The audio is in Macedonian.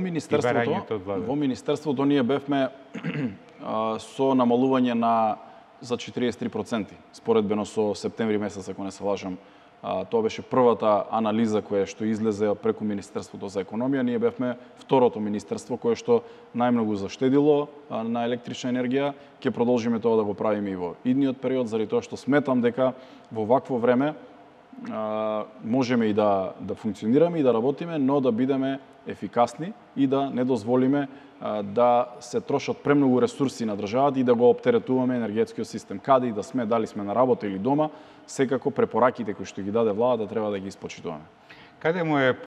Во Министерството ние бевме со намалување за 43%, споредбено со септември месец, ако не се лажам. Тоа беше првата анализа која што излезе преку Министерството за економија. Ние бевме второто министерство кое што најмногу заштедило на електрична енергија. Ќе продолжиме тоа да го правиме и во идниот период, заради тоа што сметам дека во вакво време можеме и да функционираме и да работиме, но да бидеме ефикасни и да не дозволиме да се трошат премногу ресурси на државата и да го оптеретуваме енергетскиот систем. Каде и да сме, дали сме на работа или дома, секако препораките кои што ги даде владата треба да ги испочитуваме. Каде му е